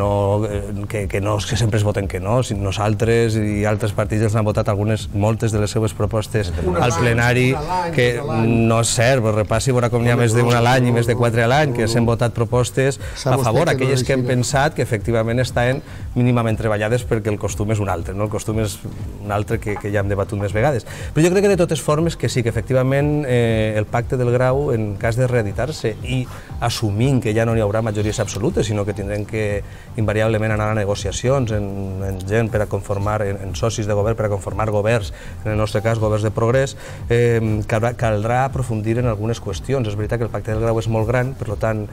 sempre es voten que no, nosaltres i altres partits els han votat moltes de les seues propostes al plenari, que no és cert, repassi, veurà com n'hi ha més d'un a l'any i més de 4 a l'any, que s'han votat propostes a favor, aquelles que hem pensat que efectivament estaven mínimament treballades perquè el costum és un altre, el costum és un altre que ja hem debatut més vegades. Però jo crec que de totes formes que sí, que efectivament el pacte del Grau, en cas de reeditar-se i assumint que ja no hi haurà majories absolutes, sinó que tindrem que invariablement anar a negociacions en gent per a conformar, en socis de govern per a conformar governs, en el nostre cas governs de progrés, caldrà aprofundir en algunes qüestions. És veritat que el pacte del Grau és molt gran, per tant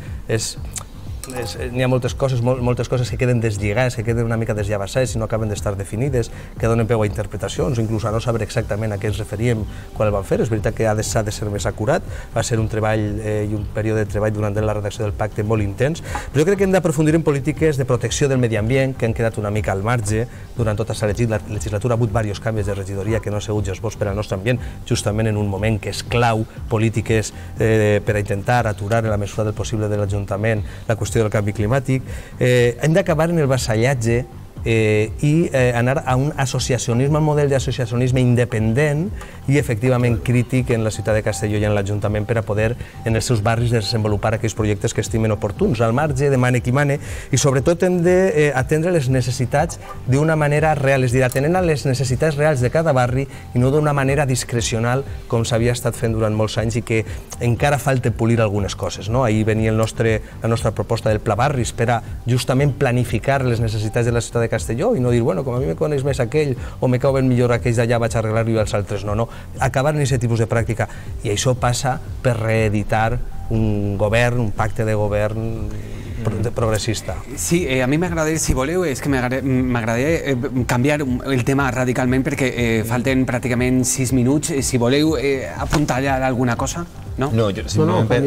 n'hi ha moltes coses que queden deslligades, que queden una mica desllavassades i no acaben d'estar definides, que donen peu a interpretacions, inclús a no saber exactament a què ens referíem quan el vam fer. És veritat que s'ha de ser més acurat, va ser un treball i un període de treball durant la redacció del pacte molt intens, però jo crec que hem d'aprofundir en polítiques de protecció del medi ambient, que han quedat una mica al marge durant tota la legislatura. Ha hagut diversos canvis de regidoria que no han sigut bons per al nostre ambient, justament en un moment que és clau, polítiques per a intentar aturar en la mesura del possible de l'Ajuntament la qüestió del canvi climàtic. Hem d'acabar en el vassallatge i anar a un associacionisme, un model d'associacionisme independent i efectivament crític en la ciutat de Castelló i en l'Ajuntament per a poder en els seus barris desenvolupar aquells projectes que estimen oportuns, al marge de mane qui mane, i sobretot hem d'atendre les necessitats d'una manera real, és a dir, atenent a les necessitats reals de cada barri i no d'una manera discrecional com s'havia estat fent durant molts anys i que encara falta polir algunes coses. Ahir venia la nostra proposta del Pla Barris per a justament planificar les necessitats de la ciutat de Castelló i no dir, bueno, com a mi me coneix més aquell o me cauen millor aquells d'allà, vaig a arreglar-ho i els altres no. Acabar en aquest tipus de pràctica. I això passa per reeditar un govern, un pacte de govern progressista. Sí, a mi m'agradaria, si voleu, és que m'agradaria canviar el tema radicalment perquè falten pràcticament 6 minuts. Si voleu apuntar alguna cosa? No, simplement per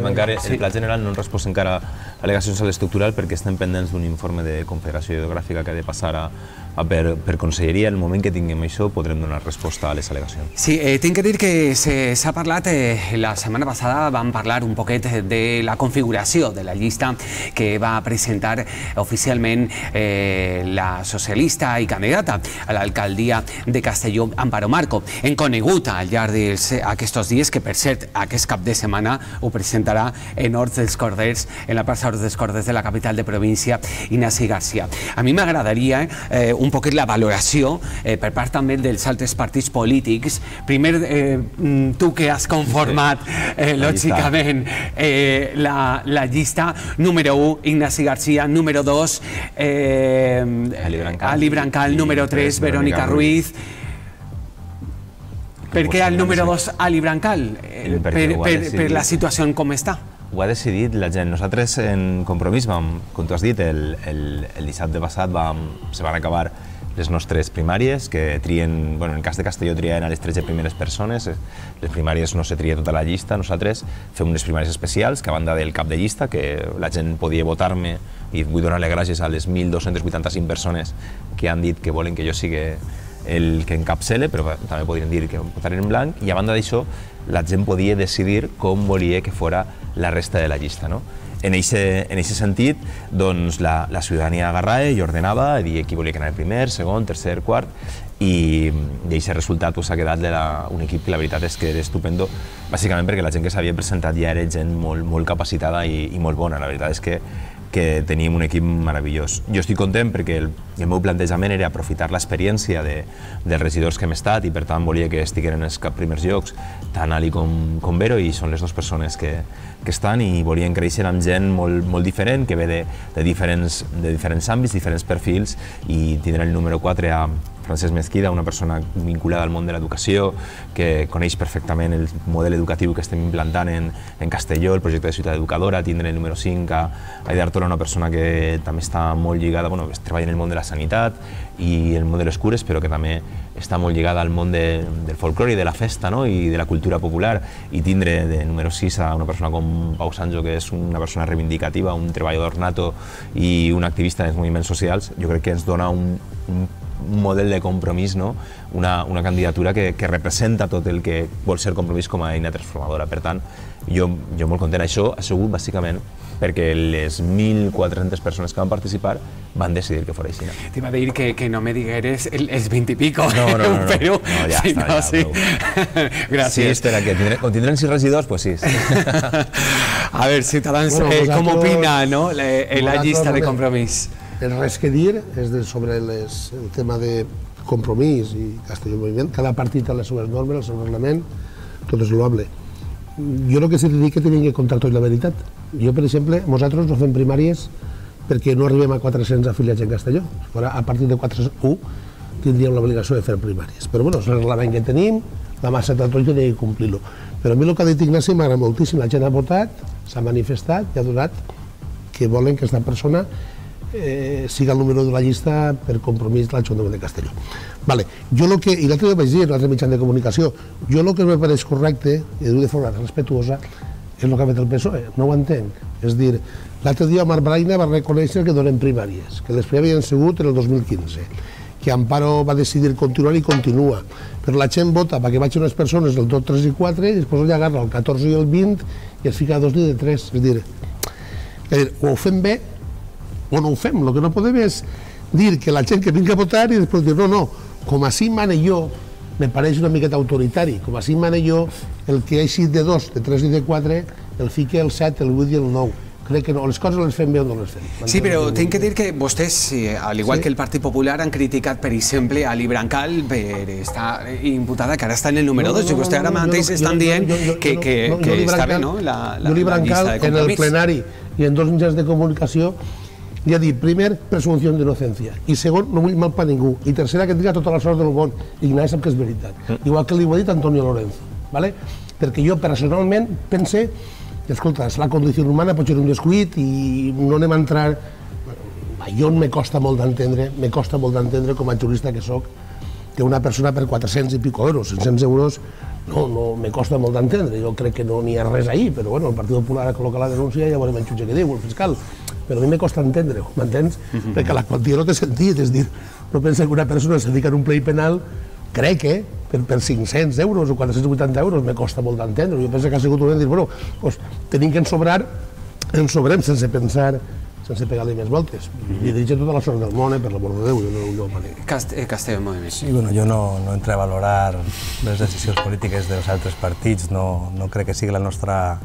tancar el pla general no hem respost encara al·legacions a l'estructural perquè estem pendents d'un informe de Confederació Hidrogràfica que ha de passar per Conselleria. En el moment que tinguem això podrem donar resposta a les al·legacions. Sí, tinc que dir que s'ha parlat, la setmana passada vam parlar un poquet de la configuració de la llista que va presentar oficialment la socialista i candidata a l'alcaldia de Castelló, Amparo Marco. Hem conegut al llarg d'aquests dies que, per cert, aquest cap de setmana ho presentarà en Horts dels Corders, en la plaça Horts dels Corders de la capital de província, Ignasi Garcia. A mi m'agradaria un poquet la valoració per part també dels altres partits polítics. Primer, tu que has conformat, lògicament, la llista, número 1, Ignasi Garcia, número 2, Ali Brancal, número 3, Verónica Ruiz. Per què el número 2, Ali Brancal? Per la situació com està? Ho ha decidit la gent. Nosaltres en Compromís, com tu has dit, el dissabte passat se van acabar les nostres primàries, que trien, en el cas de Castelló trien a les 13 primeres persones, les primàries no se tria tota la llista, nosaltres fem unes primàries especials, que a banda del cap de llista, que la gent podia votar-me, i vull donar-li gràcies a les 1.285 persones que han dit que volen que jo sigui el que encapçale, però també podrien dir que votarien en blanc, i a banda d'això la gent podia decidir com volia que fora la resta de la llista. En aquest sentit, doncs, la ciutadania agarrava i ordenava, i qui volia que anava primer, segon, tercer, quart, i aquest resultat s'ha quedat un equip que la veritat és que era estupendo, bàsicament perquè la gent que s'havia presentat ja era gent molt capacitada i molt bona. La veritat és que teníem un equip meravellós. Jo estic content perquè el meu plantejament era aprofitar l'experiència dels regidors que hem estat, i per tant volia que estiguin en els primers llocs tant Ali com Vero, i són les dues persones que estan, i volien créixer amb gent molt diferent, que ve de diferents àmbits, diferents perfils, i tindre el número 4 a Francesc Mesquida, una persona vinculada al món de l'educació, que coneix perfectament el model educatiu que estem implantant en Castelló, el projecte de ciutat educadora. Tindre el número 5 a Aida Artola, una persona que també està molt lligada, treballa en el món de la sanitat i el món de les cures, però que també està molt lligada al món del folclore i de la festa i de la cultura popular. I tindre de número 6 a una persona com Pau Sancho, que és una persona reivindicativa, un treballador nato i un activista dels moviments socials, jo crec que ens dona un model de Compromís, una candidatura que representa tot el que vol ser Compromís com a eina transformadora. Per tant, jo molt content. Això ha sigut bàsicament perquè les 1.400 persones que van participar van decidir que fos així. T'hi va dir que no me digueres els 20 i pico. No, ja està. Gràcies. Sí, com tindrem 6 regidors, doncs sí. A veure, Ciutadans, com opina la llista de Compromís? Res que dir és sobre el tema de Compromís i Castelló Moviment. Cada partit ha les seves normes, el seu reglament, tot és loable. Jo el que sí que dic que tenim que contar tot la veritat. Jo, per exemple, nosaltres no fem primàries perquè no arribem a 400 afiliats en Castelló. A partir de 401 tindríem l'obligació de fer primàries. Però és el reglament que tenim, la massa de tot tenim que complir-lo. Però a mi el que ha dit Ignasi m'agrada moltíssim. La gent ha votat, s'ha manifestat i ha donat que volen que aquesta persona siga el número de la llista per Compromís de l'Ajuntament de Castelló. I l'altre dia vaig dir, l'altre mitjà de comunicació, jo el que me pareix correcte, i ho dic de forma respetuosa, és el que ha fet el PSOE, no ho entenc. És dir, l'altre dia Marc Braina va reconèixer que donen primàries, que les primàries havien sigut en el 2015, que Amparo va decidir continuar i continua, però la gent vota perquè vagin unes persones del 2, 3 i 4, i després ja agarra el 14 i el 20 i es fica a 2 dies de 3. És dir, o ho fem bé o no ho fem. El que no podem és dir que la gent que vingui a votar i després dir no, com així mane jo, me pareix una miqueta autoritari, com així mane jo, el que ha eixit de 2, de 3 i de 4, el fique el 7, el 8 i el 9. Crec que no, les coses les fem bé o no les fem. Sí, però tinc que dir que vostès, al igual que el Partit Popular, han criticat, per exemple, a Ali Brancal per estar imputada, que ara està en el número 2, i vostè ara mateix estan dient que està bé, no?, la llista de Compromís. En el plenari i en 2 mitjans de comunicació ja ha dit, primer, presumpció d'innocència, i segon, no vull mal per ningú, i tercera, que triga totes les hores del món, i Ignasi sap que és veritat, igual que li ho ha dit Antonio Lorenzo, perquè jo personalment pense, escolta, la condició humana pot ser un descuit i no anem a entrar... Jo me costa molt d'entendre com a jurista que soc, que una persona per 400 i pico euros, 500 euros, no, me costa molt d'entendre, jo crec que no n'hi ha res ahí, però bueno, el Partit Popular ha col·locat la denúncia i ja veurem el jutge què diu, el fiscal, però a mi me costa entendre-ho, m'entens? Perquè la quantia no té sentit, és dir, no pensa que una persona se dedica a un plei penal, crec que per 500 euros o 480 euros me costa molt d'entendre, jo penso que ha sigut un dir, bueno, tenim que ensobrar, ensobrem sense pensar sense pegar-li més voltes. I dirigir tota la sort del món, per l'amor de Déu, jo no manera. Castelló, molt bé. Sí, bueno, jo no entré a valorar les decisions polítiques dels altres partits, no crec que sigui la nostra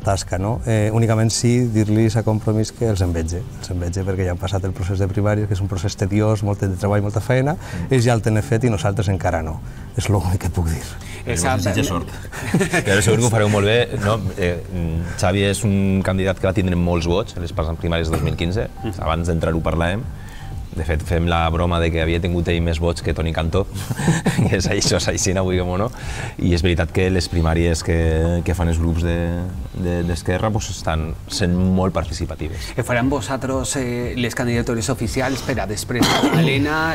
tasca, no? Únicament sí dir-los a Compromís que els envetge perquè ja han passat el procés de primàries, que és un procés tediós, molt de treball, molta feina, ells ja el tenen fet i nosaltres encara no. És l'únic que puc dir. Desitja sort. Però segur que ho fareu molt bé. Xavi és un candidat que va tindre molts vots a les primàries de 2015, abans d'entrar-ho parlàvem. De fet, fem la broma de que havia tingut ell més vots que Toni Cantó, i això és així, vulguem o no. I és veritat que les primàries que fan els grups d'Esquerra estan sent molt participatives. Faran vosaltres les candidatures oficials per a després de l'Helena,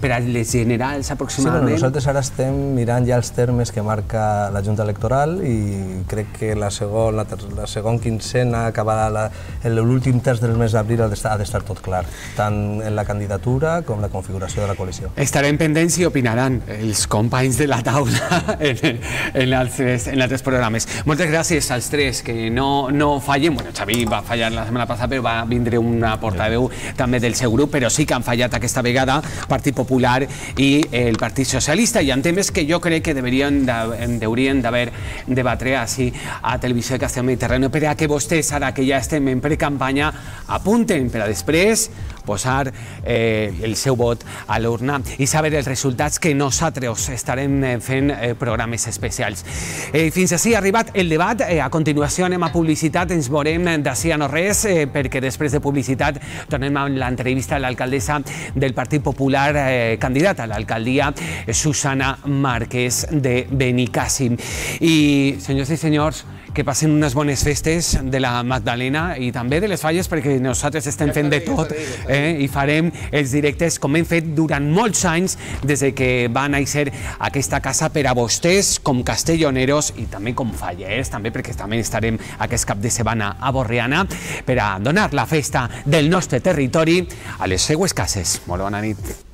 per a les generals aproximadament? Sí, nosaltres ara estem mirant ja els termes que marca la Junta Electoral i crec que la segona quincena, acabarà l'últim terç del mes d'abril, ha d'estar tot clar, tant en la candidatura com la configuració de la coalició. Estarem pendents i opinaran els companys de la taula en altres programes. Moltes gràcies als tres, que no fallen. Bueno, Xavi va fallar la setmana passada, però va vindre una portaveu també del seu grup, però sí que han fallat aquesta vegada Partit Popular i el Partit Socialista. Hi ha temes que jo crec que haurien d'haver debatre així a Televisió de Castella Mediterráneo, per a que vostès, ara que ja estem en precampanya, apunten per a després posar el seu vot a l'urna i saber els resultats, que nosaltres estarem fent programes especials. Fins així ha arribat el debat. A continuació anem a publicitat, ens veurem d'ací a no res, perquè després de publicitat tornem amb l'entrevista a l'alcaldessa del Partit Popular, candidata a l'alcaldia, Susana Márquez de Benicàssim. I, senyors i senyors, que passen unes bones festes de la Magdalena i també de les Falles, perquè nosaltres estem fent de tot i farem els directes com hem fet durant molts anys des que va néixer aquesta casa per a vostès com castelloneros i també com fallers, també perquè també estarem aquest cap de setmana a Borriana per a donar la festa del nostre territori a les seues cases. Molt bona nit.